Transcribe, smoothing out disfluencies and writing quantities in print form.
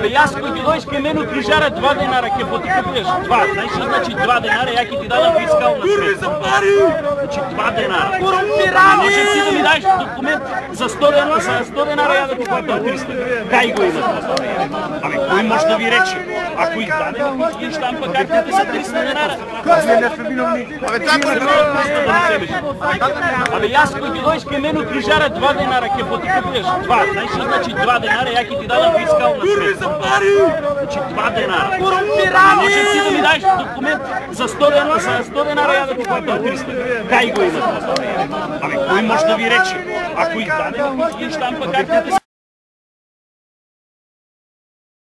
Абе јас кој ќе дојдеш кај мене крижара 2 денара ќе потикуваш 2. Знаеш што значи 2 денара? Ја ќе ти дадам фискална средства. За пари. Значи 2 денара. Корумпирани. Може ти да ми дадеш документ за 100 денара, за 100 денара ја да ти платам 300. Кај го има тоа? Абе кој може да ви рече? Ако издаде, ќе штампа картите за 300 денара. Абе јас кој ќе дојдеш кај мене крижара 2 денара ќе потикуваш 2. Знаеш што значи 2 денара? Ја ќе ти дадам фискална средства. За пари. Значи 2 денара. Корумпирани. Може ти да ми дадеш документ за 100 денара, за 100 денара ја да ти платам 300. Кај го има тоа? Абе кој може да ви рече? Ако издаде, ќе штампа картите